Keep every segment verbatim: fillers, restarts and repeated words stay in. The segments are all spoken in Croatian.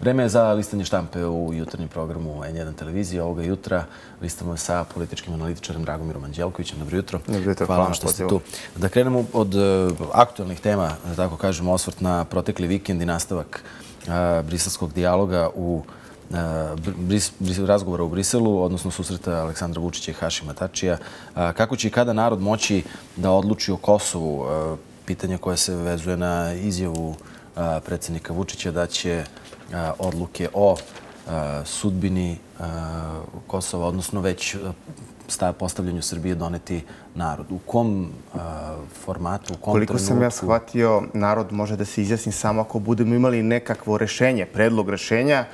Vreme je za listanje štampe u jutarnjem programu N jedan televizije. Ovoga jutra listamo sa političkim analitičarem Dragomirom Anđelkovićem. Dobro jutro. Dobro jutro. Hvala vam što ste tu. Da krenemo od aktualnih tema, da tako kažemo, osvrt na protekli vikend i nastavak briselskog dijaloga u razgovora u Briselu, odnosno susreta Aleksandra Vučića i Hašima Tačija. Kako će i kada narod moći da odluči o Kosovu? Pitanje koje se vezuje na izjavu predsjednika Vučića da će odluke o sudbini Kosova, odnosno već postavljanju Srbije doneti narod. U kom formatu, u kom trenutku? Koliko sam ja shvatio, narod može da se izjasni samo ako budemo imali nekakvo rešenje, predlog rešenja,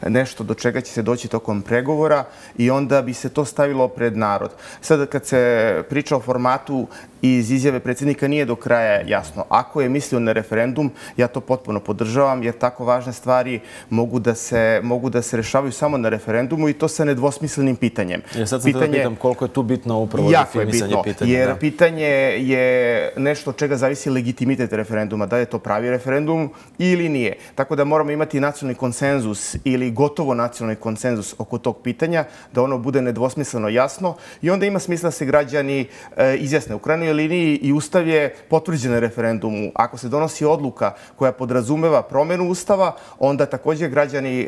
nešto do čega će se doći tokom pregovora i onda bi se to stavilo pred narod. Sada kad se priča o formatu iz izjave predsjednika nije do kraja jasno. Ako je mislio na referendum, ja to potpuno podržavam jer tako važne stvari mogu da se, mogu da se rešavaju samo na referendumu i to sa nedvosmislenim pitanjem. Ja sad sam pitanje, da pitam koliko je tu bitno upravo definisanje pitanja. Jer da? Pitanje je nešto od čega zavisi legitimitet referenduma. Da je to pravi referendum ili nije. Tako da moramo imati nacionalni konsenzus ili gotovo nacionalni konsenzus oko tog pitanja, da ono bude nedvosmisleno jasno i onda ima smisla da se građani e, izjasne. U krajnjoj liniji i Ustav je potvrđen na referendumu. Ako se donosi odluka koja podrazumeva promjenu Ustava, onda također građani e,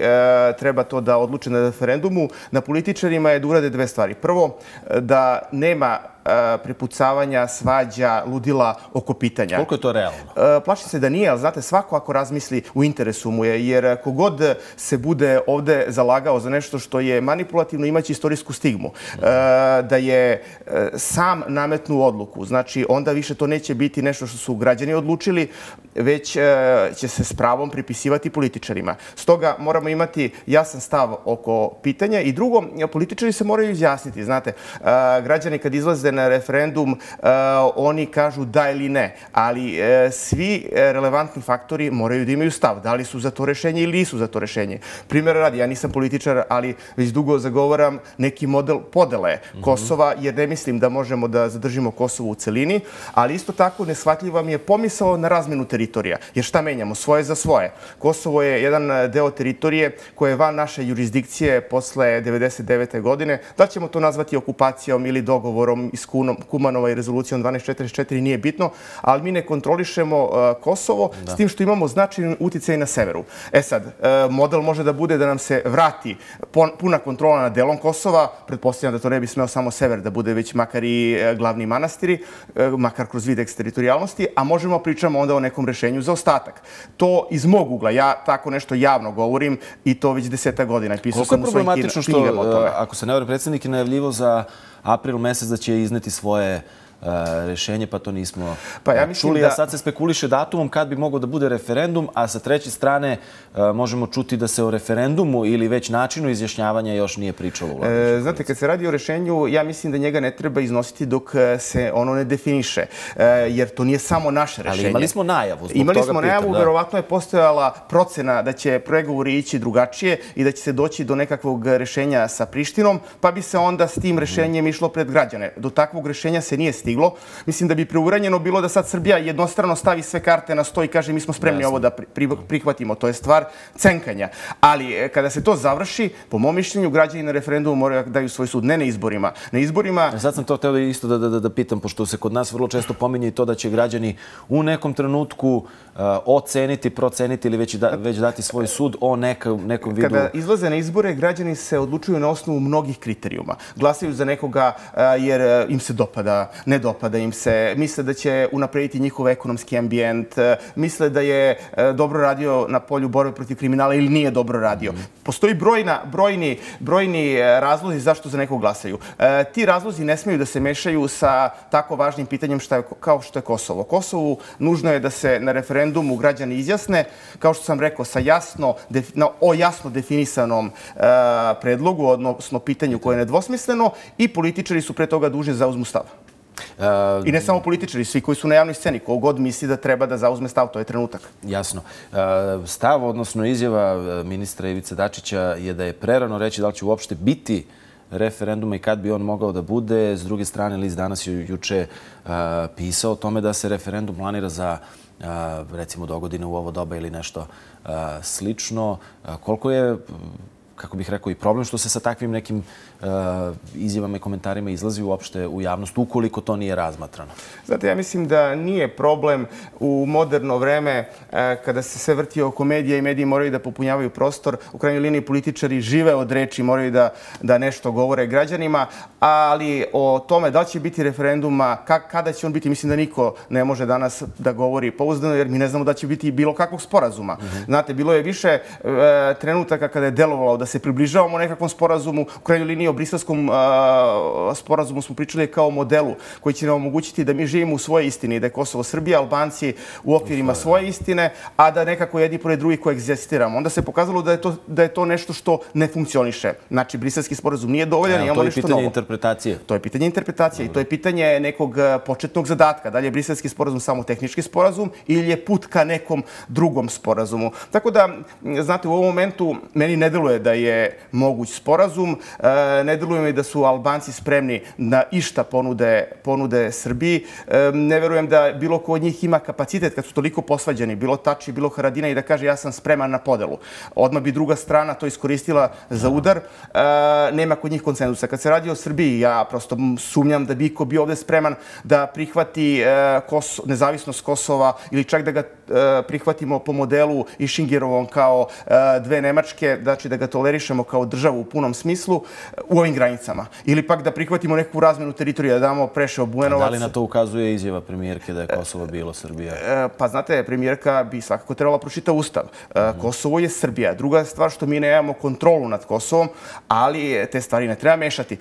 treba to da odluče na referendumu. Na političarima je da urade dve stvari. Prvo, da nema prepucavanja, svađa, ludila oko pitanja. Koliko je to realno? Plašim se da nije, ali znate, svako ako razmisli u interesu mu je, jer kogod se bude ovde zalagao za nešto što je manipulativno, imaće istorijsku stigmu. Da je sam nametnu odluku, znači onda više to neće biti nešto što su građani odlučili, već će se s pravom pripisivati političarima. Stoga moramo imati jasan stav oko pitanja i drugo, političari se moraju izjasniti. Znate, građani kad izlaze na referendum, uh, oni kažu da ili ne, ali uh, svi relevantni faktori moraju da imaju stav. Da li su za to rešenje ili nisu za to rešenje. Primjer radi, ja nisam političar, ali već dugo zagovaram neki model podele mm-hmm. Kosova, jer ne mislim da možemo da zadržimo Kosovo u celini, ali isto tako neshvatljiva mi je pomisao na razmenu teritorija. Jer šta menjamo? Svoje za svoje. Kosovo je jedan deo teritorije koje je van naše jurisdikcije posle devedeset devete godine. Da ćemo to nazvati okupacijom ili dogovorom iz Kumanova i rezolucijom dvanaest četrdeset četiri nije bitno, ali mi ne kontrolišemo Kosovo s tim što imamo značajan uticaj na severu. E sad, model može da bude da nam se vrati puna kontrola nad delom Kosova, pretpostavljam da to ne bi smeo samo sever, da bude već makar i glavni manastiri, makar kroz vid eksteritorijalnosti, a možemo pričamo onda o nekom rešenju za ostatak. To iz mog ugla, ja tako nešto javno govorim i to već deseta godina. Pisao sam u svojim knjigama o tome. Ako se ne vrlo, predsjednik je najavljivo za april mesec da će izneti svoje rešenje, pa to nismo pa ja čuli. Da... A sad se spekuliše datumom kad bi mogao da bude referendum, a sa treće strane možemo čuti da se o referendumu ili već načinu izjašnjavanja još nije pričalo. E, znate, kad se radi o rešenju, ja mislim da njega ne treba iznositi dok se ono ne definiše, e, jer to nije samo naše rešenje. Ali imali smo najavu. Imali smo najavu, pitam, verovatno je postojala procena da će pregovori ići drugačije i da će se doći do nekakvog rešenja sa Prištinom, pa bi se onda s tim rešenjem išlo pred građane. Do takvog rešenja se nije stiglo. Mislim da bi preuranjeno bilo da sad Srbija jednostrano stavi sve karte na sto i kaže mi smo spremni Jasne. ovo da prihvatimo. To je stvar cenkanja. Ali kada se to završi, po mom mišljenju, građani na referendumu moraju da daju svoj sud. Ne na izborima. Na izborima... Sad sam to htio isto da, da, da pitam, pošto se kod nas vrlo često pominje i to da će građani u nekom trenutku uh, oceniti, proceniti ili već, da, već dati svoj sud o neka, nekom vidu... Kada izlaze na izbore, građani se odlučuju na osnovu mnogih kriterijuma. Glasaju za nekoga uh, jer im se dopada, ne dopada im se, misle da će unaprediti njihov ekonomski ambijent, misle da je dobro radio na polju borbe protiv kriminala ili nije dobro radio. Postoji brojna, brojni, brojni razlozi zašto za nekog glasaju. E, ti razlozi ne smiju da se mešaju sa tako važnim pitanjem šta je, kao što je Kosovo. Kosovu nužno je da se na referendumu građani izjasne, kao što sam rekao, sa jasno, na, o jasno definisanom e, predlogu, odnosno pitanju koje je nedvosmisleno i političari su pre toga dužni da zauzmu stav. I ne samo političari, svi koji su na javnoj sceni. Ko god misli da treba da zauzme stav, to je trenutak. Jasno. Stav, odnosno izjava ministra Ivice Dačića je da je prerano reći da li će uopšte biti referenduma i kad bi on mogao da bude. S druge strane, List danas je juče pisao o tome da se referendum planira za recimo do godine u ovo doba ili nešto slično. Koliko je, kako bih rekao, i problem što se sa takvim nekim izjavama i komentarima izlazi uopšte u javnost, ukoliko to nije razmatrano? Znate, ja mislim da nije problem u moderno vreme kada se sve vrti oko medija i mediji moraju da popunjavaju prostor. U krajnjoj liniji političari žive od reči, moraju da, da nešto govore građanima, ali o tome da li će biti referenduma, kada će on biti, mislim da niko ne može danas da govori pouzdano, jer mi ne znamo da će biti bilo kakvog sporazuma. Mm-hmm. Znate, bilo je više e, trenutaka kada je delovalo da se približavamo nekakvom sporazumu. U krajnjoj liniji o briselskom sporazumu smo pričali kao modelu koji će nam omogućiti da mi živimo u svojoj istini, da je Kosovo Srbija, Albanci u okvirima svoje istine, a da nekako jedni pored drugih koegzistiramo. Onda se pokazalo da je to, da je to nešto što ne funkcioniše. Znači, briselski sporazum nije dovoljan, imamo nešto novo. To je pitanje interpretacije. To je pitanje interpretacije i to je pitanje nekog početnog zadatka. Da li je briselski sporazum samo tehnički sporazum ili je put ka nekom drugom sporazumu. Tako da, znate, u ovom momentu meni ne deluje da je moguć sporazum. Ne deluje mi da su Albanci spremni na išta ponude, ponude Srbiji. Ne verujem da bilo ko od njih ima kapacitet kad su toliko posvađani, bilo Tači, bilo Haradina, i da kaže ja sam spreman na podelu. Odmah bi druga strana to iskoristila za udar. Nema kod njih konsenzusa. Kad se radi o Srbiji, ja prosto sumnjam da bi iko bio ovde spreman da prihvati nezavisnost Kosova ili čak da ga prihvatimo po modelu Išingerovom kao dve Nemačke, znači da ga tolerišemo kao državu u punom smislu u ovim granicama. Ili pak da prihvatimo neku razmenu teritorija, da damo Preševo, Bujanovac. Da li na to ukazuje izjava premijerke da je Kosovo bilo Srbija? Pa znate, premijerka bi svakako trebala pročita Ustav. Kosovo je Srbija. Druga stvar što mi nemamo kontrolu nad Kosovom, ali te stvari ne treba mešati.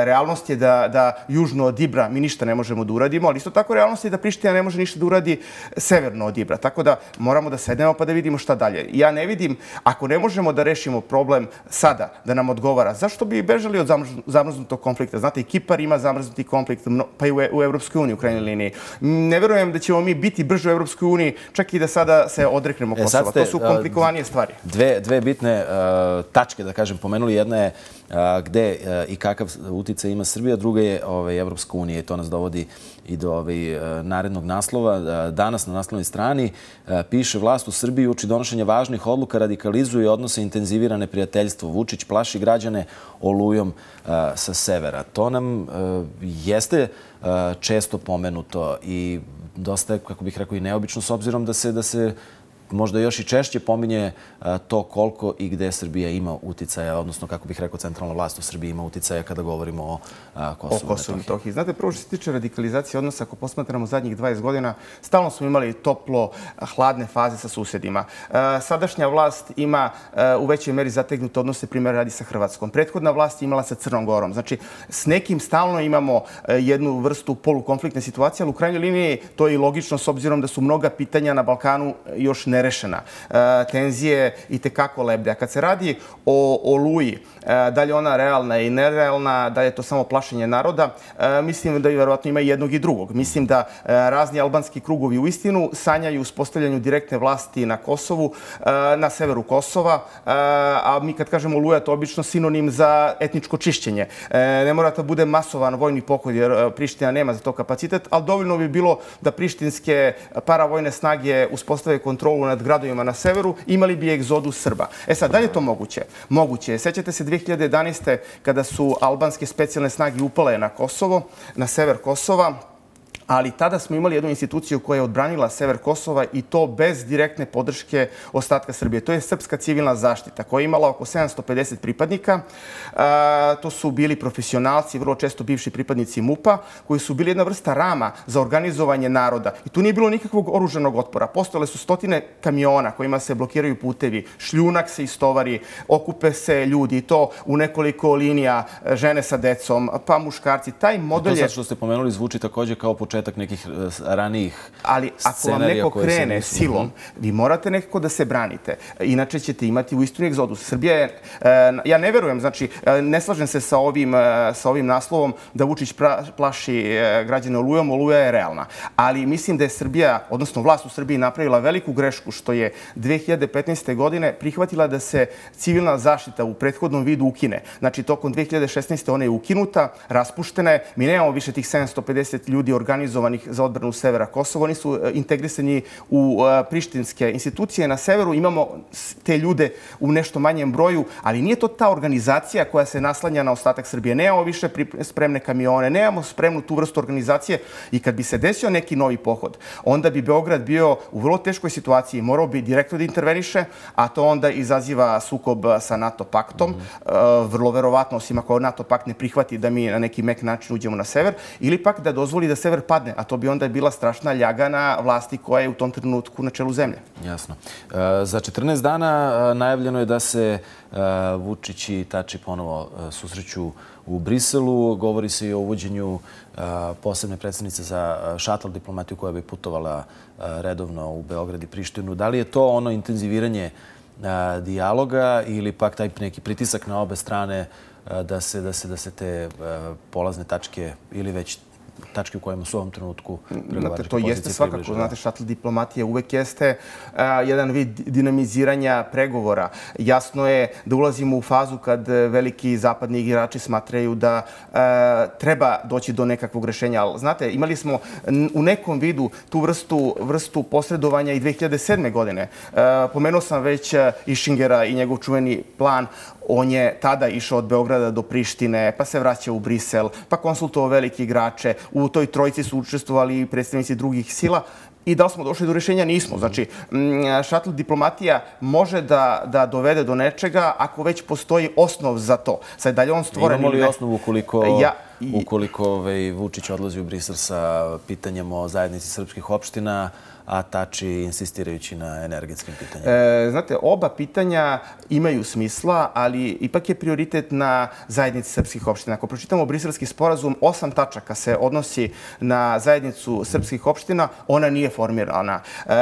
Realnost je da, da južno od Ibra mi ništa ne možemo da uradimo, ali isto tako realnost je da Priština ne može ništa da uradi severno od Ibra. Tako da moramo da sednemo pa da vidimo šta dalje. Ja ne vidim, ako ne možemo da rešimo problem sada, da nam odgovara, zašto bi bežali od zamrznutog konflikta? Znate, i Kipar ima zamrznuti konflikt, pa i u Evropskoj uniji u krajnjoj liniji. Ne verujem da ćemo mi biti brže u Evropskoj uniji, čak i da sada se odreknemo Kosova. To su komplikovanije stvari. Dve, dve bitne uh, tačke, da kažem, pomenuli. Jedna je uh, gde uh, i kakav uticaj ima Srbija, druga je ovaj, Evropska unija, i to nas dovodi i do ovaj, uh, narednog naslova. Uh, danas na naslovnoj strani uh, piše: vlast u Srbiji uči donošenje važnih odluka, radikalizuje odnose, intenzivira neprijateljstvo. Vučić plaši građane olujom uh, sa severa. To nam uh, jeste uh, često pomenuto i dosta je, kako bih rekao, i neobično, s obzirom da se, da se možda još i češće pominje to koliko i gde Srbija ima uticaja, odnosno, kako bih rekao, centralna vlast u Srbiji ima uticaja kada govorimo o Kosovu. O Kosovu i Metohiji. Znate, prvo što se tiče radikalizacije odnosa, ako posmatramo zadnjih dvadeset godina, stalno smo imali toplo, hladne faze sa susedima. Sadašnja vlast ima u većoj meri zategnute odnose, primjer radi sa Hrvatskom. Prethodna vlast je imala sa Crnom Gorom. Znači, s nekim stalno imamo jednu vrstu polukonfliktne situacije, ali u krajnjoj liniji to je i logično s obzirom da su mnoga pitanja na Balkanu još ne nerešena. Tenzije i tekako lebde. A kad se radi o Oluji, da li je ona realna i nerealna, da li je to samo plašenje naroda, mislim da vjerovatno ima i jednog i drugog. Mislim da razni albanski krugovi u istinu sanjaju uspostavljanju direktne vlasti na Kosovu, na severu Kosova, a mi kad kažemo Oluja, to je obično sinonim za etničko čišćenje. Ne mora da bude masovan vojni pokolj, jer Priština nema za to kapacitet, ali dovoljno bi bilo da prištinske paravojne snage uspostave kontrolu nad gradovima na severu, imali bi egzodus Srba. E sad, da li je to moguće? Moguće je. Sećate se dve hiljade jedanaeste. kada su albanske specijalne snage upale na Kosovo, na sever Kosova, ali tada smo imali jednu instituciju koja je odbranila sever Kosova i to bez direktne podrške ostatka Srbije. To je Srpska civilna zaštita koja je imala oko sedamsto pedeset pripadnika. To su bili profesionalci, vrlo često bivši pripadnici MUP-a, koji su bili jedna vrsta rama za organizovanje naroda. I tu nije bilo nikakvog oružanog otpora. Postojale su stotine kamiona kojima se blokiraju putevi, šljunak se istovari, okupe se ljudi i to u nekoliko linija, žene sa decom, pa muškarci. Taj model je... To sad što ste pomenuli zvuči također kao početak nekih ranijih scenarija. Ali ako vam neko krene silom, vi morate nekako da se branite. Inače ćete imati u istinu egzodus. Srbija je... Ja ne verujem, znači, ne slažem se sa ovim, sa ovim naslovom da Vučić plaši građane Olujom. Oluja je realna. Ali mislim da je Srbija, odnosno vlast u Srbiji, napravila veliku grešku što je dve hiljade petnaeste. godine prihvatila da se civilna zaštita u prethodnom vidu ukine. Znači, tokom dve hiljade šesnaeste. ona je ukinuta, raspuštena je. Mi nemamo više tih sedamsto pedeset ljudi organizovanih organizovanih za odbranu severa Kosova. Oni su integrisani u prištinske institucije. Na severu imamo te ljude u nešto manjem broju, ali nije to ta organizacija koja se naslanja na ostatak Srbije. Nemamo više spremne kamione, nemamo spremnu tu vrstu organizacije i kad bi se desio neki novi pohod, onda bi Beograd bio u vrlo teškoj situaciji. Morao bi direktno da interveniše, a to onda izaziva sukob sa NATO paktom. Vrlo verovatno, osim ako NATO pakt ne prihvati da mi na neki mek način uđemo na sever, ili pak da dozvoli da sever padne, a to bi onda bila strašna ljaga na vlasti koja je u tom trenutku na čelu zemlje. Jasno. Za četrnaest dana najavljeno je da se Vučić i Tači ponovo susreću u Briselu. Govori se i o uvođenju posebne predstavnice za šatl diplomatiju koja bi putovala redovno u Beograd i Prištinu. Da li je to ono intenziviranje dijaloga ili pak taj neki pritisak na obe strane da se, da se, da se te polazne tačke ili već tačke u kojima su u ovom trenutku pregovaračke to jeste svakako. Znate, šatl diplomatija uvek jeste jedan vid dinamiziranja pregovora. Jasno je da ulazimo u fazu kad veliki zapadni igrači smatraju da treba doći do nekakvog rešenja. Ali, znate, imali smo u nekom vidu tu vrstu, vrstu posredovanja i dve hiljade sedme. godine. Pomenuo sam već Išingera i njegov čuveni plan. On je tada išao od Beograda do Prištine, pa se vraćao u Brisel, pa konsultovao velike igrače. U toj trojici su učestvovali i predstavnici drugih sila. I da li smo došli do rješenja? Nismo. Znači, šatl diplomatija može da, da dovede do nečega ako već postoji osnov za to. Sad, dalje on stvoren... Imamo li osnovu ukoliko, ja, i... ukoliko ovaj, Vučić odlazi u Brisel sa pitanjem o zajednici srpskih opština, a Tači insistirajući na energetskim pitanjima? E, znate, oba pitanja imaju smisla, ali ipak je prioritet na zajednici srpskih opština. Ako pročitamo briselski sporazum, osam tačaka se odnosi na zajednicu srpskih opština, ona nije formirana. E,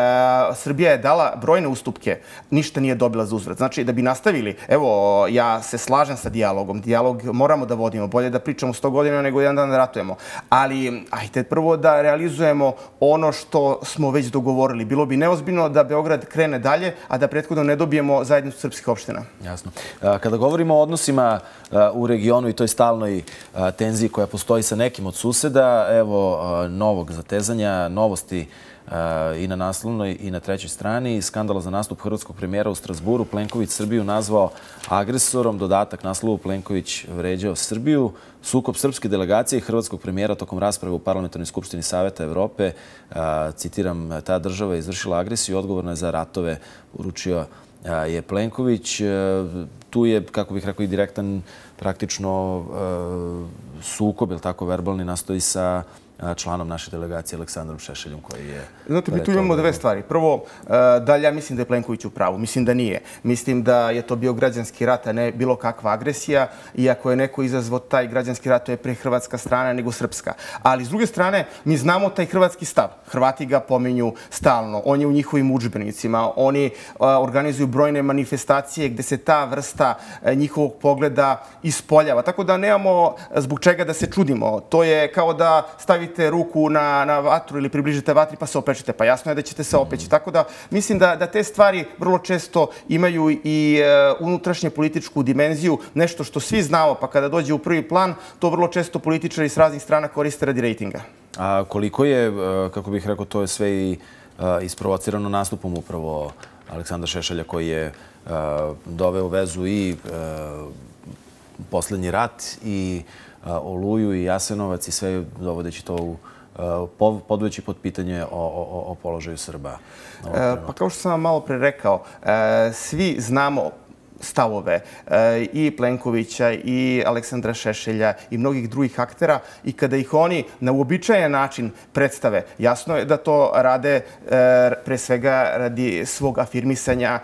Srbija je dala brojne ustupke, ništa nije dobila za uzvrat. Znači, da bi nastavili, evo, ja se slažem sa dijalogom. Dijalog moramo da vodimo. Bolje da pričamo sto godina nego jedan dan da ratujemo. Ali, ajte prvo da realizujemo ono što smo već dogovorili. Bilo bi neozbiljno da Beograd krene dalje, a da prethodno ne dobijemo zajednicu srpskih opština. Jasno. Kada govorimo o odnosima u regionu i toj stalnoj tenziji koja postoji sa nekim od suseda, evo novog zatezanja, novosti i na naslovnoj i na trećoj strani. Skandala za nastup hrvatskog premijera u Strasburu. Plenković Srbiju nazvao agresorom. Dodatak naslovu: Plenković vređao Srbiju. Sukob srpske delegacije i hrvatskog premijera tokom rasprave u Parlamentarnoj skupštini Saveta Evrope. Citiram, ta država je izvršila agresiju, odgovorna je za ratove, uručio je Plenković. Tu je, kako bih rekao, i direktan praktično sukob, ili tako verbalni, nastoji sa članom naše delegacije Aleksandrom Šešeljom koji je... Znate, mi tu imamo dve stvari. Prvo, da li ja mislim da je Plenković u pravu? Mislim da nije. Mislim da je to bio građanski rat, a ne bilo kakva agresija. Iako je neko izazvao taj građanski rat, to je pre hrvatska strana nego srpska. Ali, s druge strane, mi znamo taj hrvatski stav. Hrvati ga pominju stalno. On je u njihovim udžbenicima. Oni organizuju brojne manifestacije gde se ta vrsta njihovog pogleda ispoljava. Tako da nemamo zbog čega da se čudimo. To je kao da stavite ruku na, na vatru ili približite vatri pa se opečete. Pa jasno je da ćete se opeći. Tako da mislim da, da te stvari vrlo često imaju i e, unutrašnje političku dimenziju. Nešto što svi znamo, pa kada dođe u prvi plan, to vrlo često političari s raznih strana koriste radi rejtinga. A koliko je, kako bih rekao, to je sve i isprovocirano nastupom upravo Aleksandra Šešelja koji je doveo u vezu i poslednji rat i Oluju i Jasenovac i sve dovodeći to u podvojeći pod pitanje o, o, o položaju Srba. Pa kao što sam vam malo pre rekao, svi znamo stavove i Plenkovića i Aleksandra Šešelja i mnogih drugih aktera i kada ih oni na uobičajen način predstave, jasno je da to rade pre svega radi svog afirmisanja,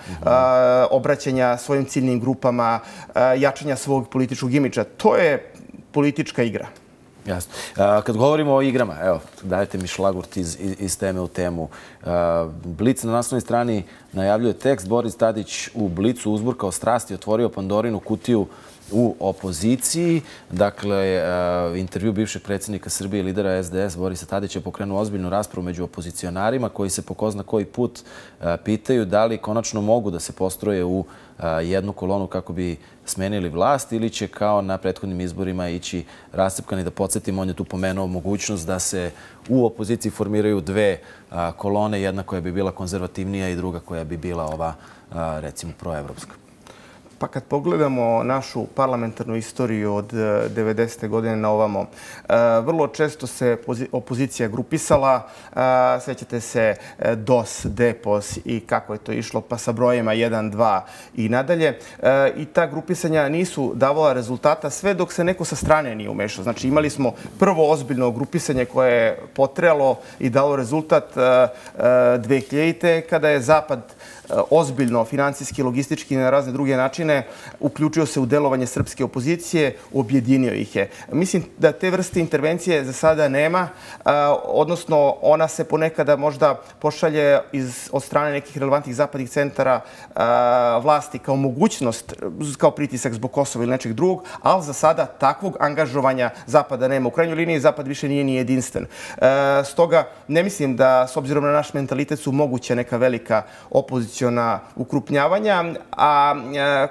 obraćanja svojim ciljnim grupama, jačanja svog političkog imidža. To je politička igra. Jasno. Kad govorimo o igrama, evo, dajte mi šlagurt iz, iz teme u temu. Blic na naslovnoj strani najavljuje tekst: Boris Tadić u Blicu uzburkao strasti, otvorio Pandorinu kutiju u opoziciji. Dakle, intervju bivšeg predsjednika Srbije i lidera S D S Borisa Tadića je pokrenuo ozbiljnu raspravu među opozicionarima koji se po ko zna koji put pitaju da li konačno mogu da se postroje u jednu kolonu kako bi smenili vlast ili će kao na prethodnim izborima ići rascepkani. Da podsjetimo, on je tu pomenuo mogućnost da se u opoziciji formiraju dve kolone, jedna koja bi bila konzervativnija i druga koja bi bila ova, recimo, proevropska. Pa kad pogledamo našu parlamentarnu istoriju od devedesete godine na ovamo, vrlo često se opozicija grupisala. Sjećate se D O S, D E P O S i kako je to išlo, pa sa brojima jedan, dva i nadalje. I ta grupisanja nisu davala rezultata sve dok se neko sa strane nije umešao. Znači imali smo prvo ozbiljno grupisanje koje je potrajalo i dalo rezultat dve hiljadite kada je Zapad ozbiljno, financijski, logistički i na razne druge načine uključio se u delovanje srpske opozicije, objedinio ih je. Mislim da te vrste intervencije za sada nema, odnosno ona se ponekada možda pošalje od strane nekih relevantnih zapadnih centara vlasti kao mogućnost, kao pritisak zbog Kosova ili nečeg drugog, ali za sada takvog angažovanja Zapada nema. U krajnjoj liniji Zapad više nije ni jedinstven. Stoga ne mislim da, s obzirom na naš mentalitet, su moguće neka velika opozicija opoziciona ukrupnjavanja, a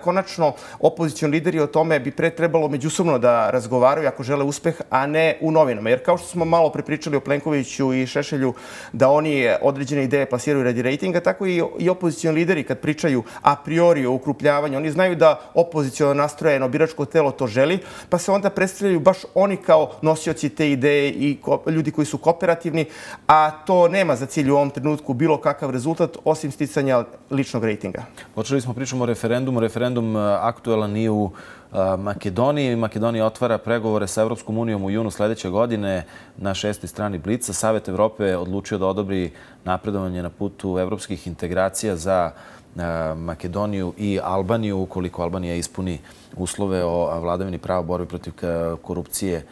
konačno opozicioni lideri o tome bi pre trebalo međusobno da razgovaraju ako žele uspeh, a ne u novinama. Jer kao što smo malo prepričali o Plenkoviću i Šešelju da oni određene ideje plasiraju radi rejtinga, tako i opozicioni lideri kad pričaju a priori o ukrupljavanju, oni znaju da opoziciono nastrojeno biračko telo to želi, pa se onda predstavljaju baš oni kao nosioci te ideje i ljudi koji su kooperativni, a to nema za cilj u ovom trenutku bilo kakav rezultat osim sticanja ličnog rejtinga. Počeli smo pričamo o referendumu. Referendum aktuelan i u Makedoniji. Makedonija otvara pregovore sa Evropskom unijom u junu sljedeće godine na šestoj strani Blica. Savet Evrope je odlučio da odobri napredovanje na putu evropskih integracija za Makedoniju i Albaniju, ukoliko Albanija ispuni uslove o vladavini prava, borbi protiv korupcije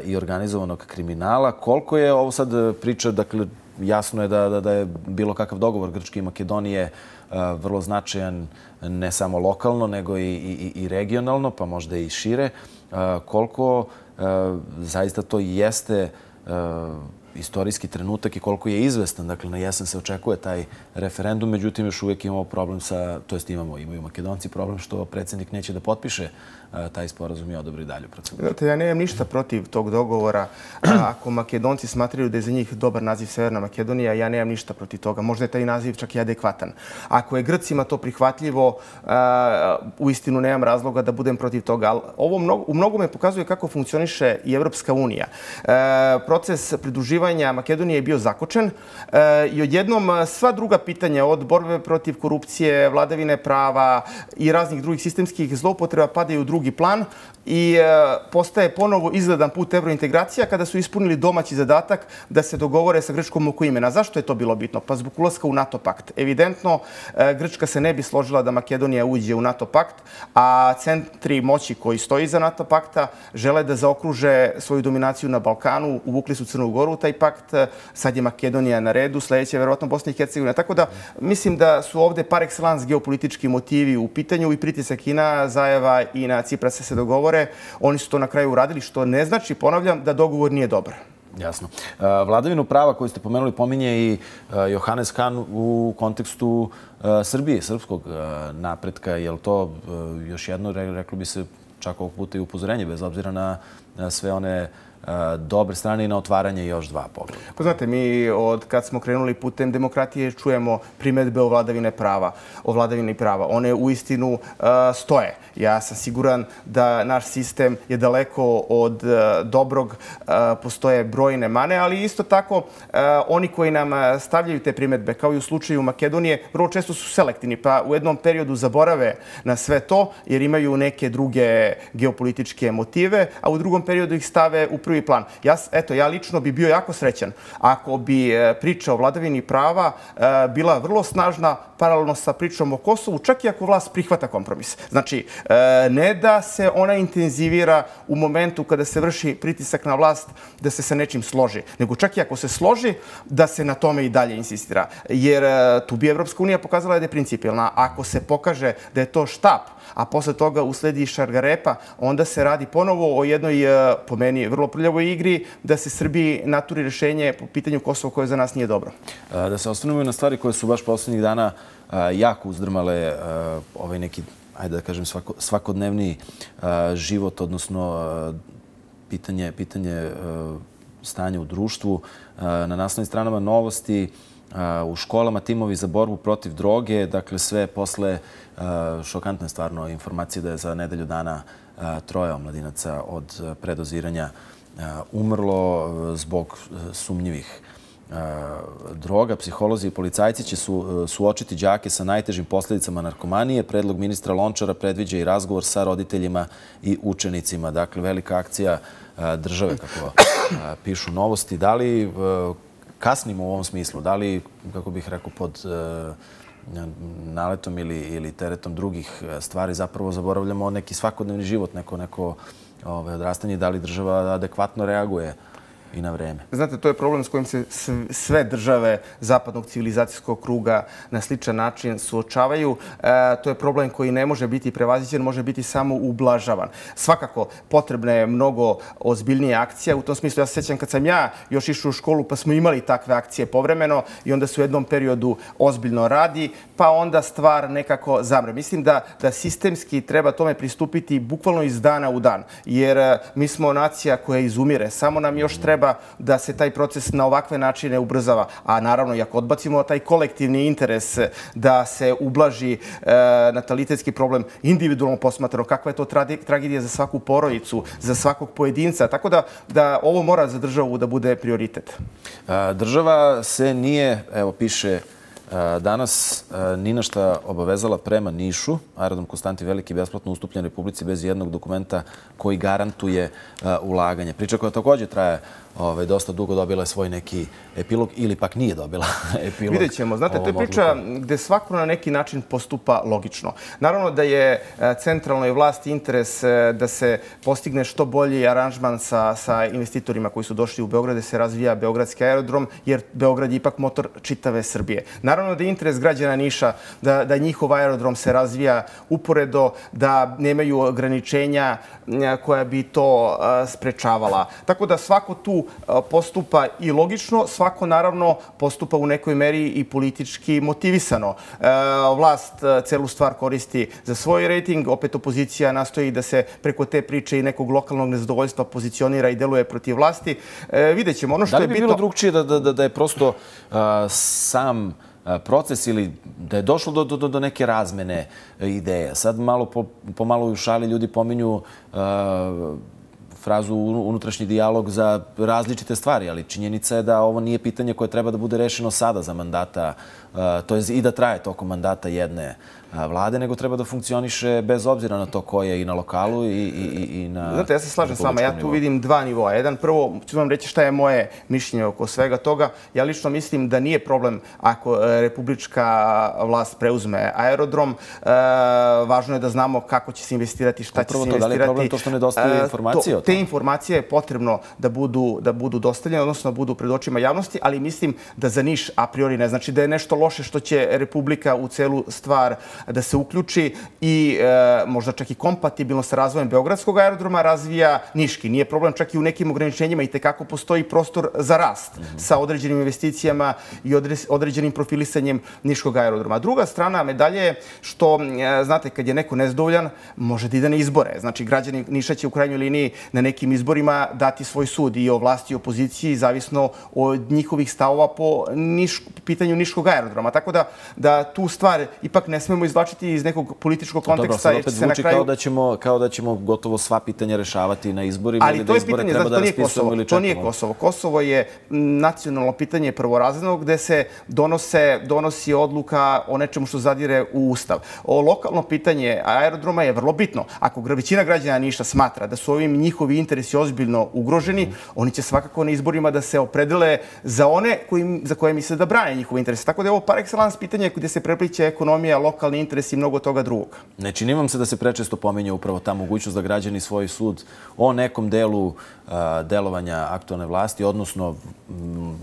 i organizovanog kriminala. Koliko je ovo sad priča, dakle, jasno je da, da je bilo kakav dogovor Grčke i Makedonije vrlo značajan ne samo lokalno, nego i, i, i regionalno, pa možda i šire. Koliko zaista to jeste istorijski trenutak i koliko je izvestan. Dakle, na jesen se očekuje taj referendum, međutim, još uvijek imamo problem sa, to jest imamo, imaju Makedonci problem što predsjednik neće da potpiše taj sporazum i odobri dalju proceduru. Znate, ja nemam ništa protiv tog dogovora. Ako Makedonci smatraju da je za njih dobar naziv Severna Makedonija, ja nemam ništa protiv toga. Možda je taj naziv čak i adekvatan. Ako je Grcima to prihvatljivo, uistinu nemam razloga da budem protiv toga. Ali ovo mnogo, u mnogome pokazuje kako funkcioniše i Evropska unija. Proces pridruživanja Makedonije je bio zakočen i odjednom sva druga pitanja od borbe protiv korupcije, vladavine prava i raznih drugih sistemskih zloupotreba padaju u drugi plan i postaje ponovo izgledan put evrointegracija kada su ispunili domaći zadatak da se dogovore sa Grčkom oko imena. Zašto je to bilo bitno? Pa zbog ulaska u NATO pakt. Evidentno, Grčka se ne bi složila da Makedonija uđe u NATO pakt, a centri moći koji stoji iza NATO pakta žele da zaokruže svoju dominaciju na Balkanu, uvukli su Crnu Goru u taj pakt, sad je Makedonija na redu, sljedeće je verovatno Bosna i Hercegovina. Tako da mislim da su ovdje par excellence geopolitički motivi u pitanju i pritisak i na Zajeva i na Ciprasa se dogovore. Oni su to na kraju uradili, što ne znači, ponavljam, da dogovor nije dobar. Jasno. Vladavinu prava koju ste pomenuli pominje i Johannes Hahn u kontekstu Srbije, srpskog napretka. Je li to još jedno, reklo bi se čak ovog puta i upozorenje, bez obzira na sve one dobre strane i na otvaranje još dva pogleda? Pa znate, mi od kad smo krenuli putem demokratije čujemo primjedbe o vladavine prava, o vladavini prava. One uistinu stoje. Ja sam siguran da naš sistem je daleko od dobrog, postoje brojne mane, ali isto tako oni koji nam stavljaju te primjedbe, kao i u slučaju Makedonije, vrlo često su selektivni, pa u jednom periodu zaborave na sve to jer imaju neke druge geopolitičke motive, a u drugom periodu ih stave u prvi prvi plan. Ja, eto, ja lično bi bio jako srećan ako bi priča o vladavini prava bila vrlo snažna paralelno sa pričom o Kosovu, čak i ako vlast prihvata kompromis. Znači, ne da se ona intenzivira u momentu kada se vrši pritisak na vlast da se sa nečim složi, nego čak i ako se složi, da se na tome i dalje insistira. Jer tu bi Evropska unija pokazala da je principijelna. Ako se pokaže da je to štap, a posle toga usledi šargarepa, onda se radi ponovo o jednoj, po meni, vrlo prljavoj igri da se Srbiji naturi rešenje po pitanju Kosova koje za nas nije dobro. Da se osvrnemo na stvari koje su baš poslednjih dana jako uzdrmale ovaj neki, ajde da kažem, svakodnevni život, odnosno pitanje, pitanje stanja u društvu. Na naslovnim stranama Novosti, u školama timovi za borbu protiv droge, dakle sve posle šokantne stvarno informacije da je za nedelju dana troje omladinaca od predoziranja umrlo zbog sumnjivih droga. Psiholozi i policajci će suočiti đake sa najtežim posljedicama narkomanije. Predlog ministra Lončara predviđa i razgovor sa roditeljima i učenicima. Dakle, velika akcija države, kako pišu Novosti. Da li kasnimo u ovom smislu? Da li, kako bih rekao, pod naletom ili teretom drugih stvari zapravo zaboravljamo neki svakodnevni život, neko neko odrastanje? Da li država adekvatno reaguje i na vreme? Znate, to je problem s kojim se sve države zapadnog civilizacijskog kruga na sličan način suočavaju. To je problem koji ne može biti prevaziđen, može biti samo ublažavan. Svakako, potrebna je mnogo ozbiljnija akcija. U tom smislu, ja se sjećam kad sam ja još išao u školu, pa smo imali takve akcije povremeno i onda se u jednom periodu ozbiljno radi, pa onda stvar nekako zamre. Mislim da, da sistemski treba tome pristupiti bukvalno iz dana u dan, jer mi smo nacija koja izumire. Samo nam još treba da se taj proces na ovakve načine ubrzava. A naravno, i ako odbacimo taj kolektivni interes da se ublaži natalitetski problem individualno posmatrano, kakva je to tragedija za svaku porodicu, za svakog pojedinca. Tako da, da ovo mora za državu da bude prioritet. Država se nije, evo piše danas, ni na šta obavezala prema Nišu. Aerodrom Konstantin Veliki besplatno ustupljen Republici bez jednog dokumenta koji garantuje ulaganje. Priča koja također traje dosta dugo, dobila je svoj neki epilog ili pak nije dobila epilog. Vidjet ćemo. Znate, to je priča gde svako na neki način postupa logično. Naravno da je centralnoj vlasti interes da se postigne što bolji aranžman sa investitorima koji su došli u Beograd, da se razvija Beogradski aerodrom, jer Beograd je ipak motor čitave Srbije. Naravno da je interes građana Niša da njihov aerodrom se razvija uporedo, da nemaju ograničenja koja bi to sprečavala. Tako da svako tu postupa i logično, svako naravno postupa u nekoj meri i politički motivisano. Vlast celu stvar koristi za svoj rejting, opet opozicija nastoji da se preko te priče i nekog lokalnog nezadovoljstva pozicionira i deluje protiv vlasti. Vidjet ćemo. Ono što je bitno... Da li bi bilo drugčije da je prosto sam proces ili da je došlo do neke razmene ideje? Sad malo po malo u šali ljudi pominju frazu unutrašnji dijalog za različite stvari, ali činjenica je da ovo nije pitanje koje treba da bude rešeno sada za mandata, to je i da traje tokom mandata jedne vlade, nego treba da funkcioniše bez obzira na to ko je i na lokalu i na... Znate, ja se slažem s vama. Ja tu vidim dva nivoa. Jedan, prvo, ću vam reći šta je moje mišljenje oko svega toga. Ja lično mislim da nije problem ako republička vlast preuzme aerodrom. Važno je da znamo kako će se investirati, šta će se investirati. Da li je problem to što nedostaje informacije o tome? Te informacije je potrebno da budu dostavljene, odnosno da budu pred očima javnosti, ali mislim da za Niš a priori ne znači da je nešto loše što će Republika u celu stvar da se uključi i možda čak i kompatibilno sa razvojem Beogradskog aerodroma razvija Niški. Nije problem čak i u nekim ograničenjima i tekako postoji prostor za rast sa određenim investicijama i određenim profilisanjem Niškog aerodroma. Druga strana medalje je što, znate, kad je neko nezadovoljan, može da ide na izbore. Znači, građani Niša će u krajnjoj liniji na nekim izborima dati svoj sud i o vlasti i opoziciji, zavisno od njihovih stavova po pitanju Niškog aerodroma. Tako da tu stvar ipak ne smemo izvlačiti iz nekog političkog konteksta. Dobro, sad opet zvuči kao da ćemo gotovo sva pitanja rešavati na izborima ili da izbore treba da raspisujemo ili čekamo. To nije Kosovo. Kosovo je nacionalno pitanje prvorazredno gde se donosi odluka o nečemu što zadire u Ustav. O lokalno pitanje aerodroma je vrlo bitno. Ako većina građana Niša smatra da su ovim njihovim njihovi interesi ozbiljno ugroženi, oni će svakako na izborima da se opredele za one za koje misle da brane njihove interese. Tako da je ovo par excellence pitanje gdje se prepliče ekonomija, lokalni interesi i mnogo toga drugog. Ne čini vam se da se prečesto pominje upravo ta mogućnost da građani svoj sud o nekom delu delovanja aktualne vlasti, odnosno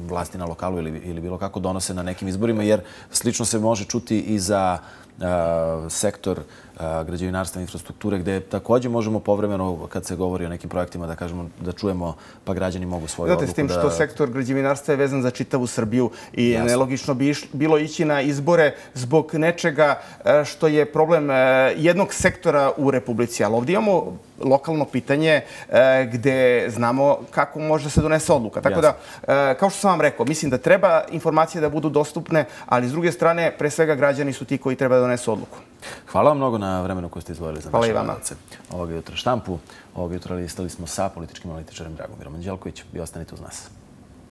vlasti na lokalu ili bilo kako donose na nekim izborima, jer slično se može čuti i za sektor građevinarstva i infrastrukture, gde također možemo povremeno, kad se govori o nekim projektima, da kažemo, da čujemo, pa građani mogu svoju odluku da... Znate, s tim što sektor građevinarstva je vezan za čitavu Srbiju i nelogično bi bilo ići na izbore zbog nečega što je problem jednog sektora u Republici. Ali ovdje imamo lokalno pitanje gde znamo kako može da se donese odluka. Tako da, kao što sam vam rekao, mislim da treba informacije da budu dostupne, ali s druge strane, pre svega građani su ti koji treba da donesu odluku. Hvala vam mnogo na vremenu koje ste izdvojili za naše gledalce. Hvala i Ovoga jutra štampu. Ovoga jutra listali smo sa političkim analitičarem Dragomirom Anđelkovićem. Vi ostanite uz nas.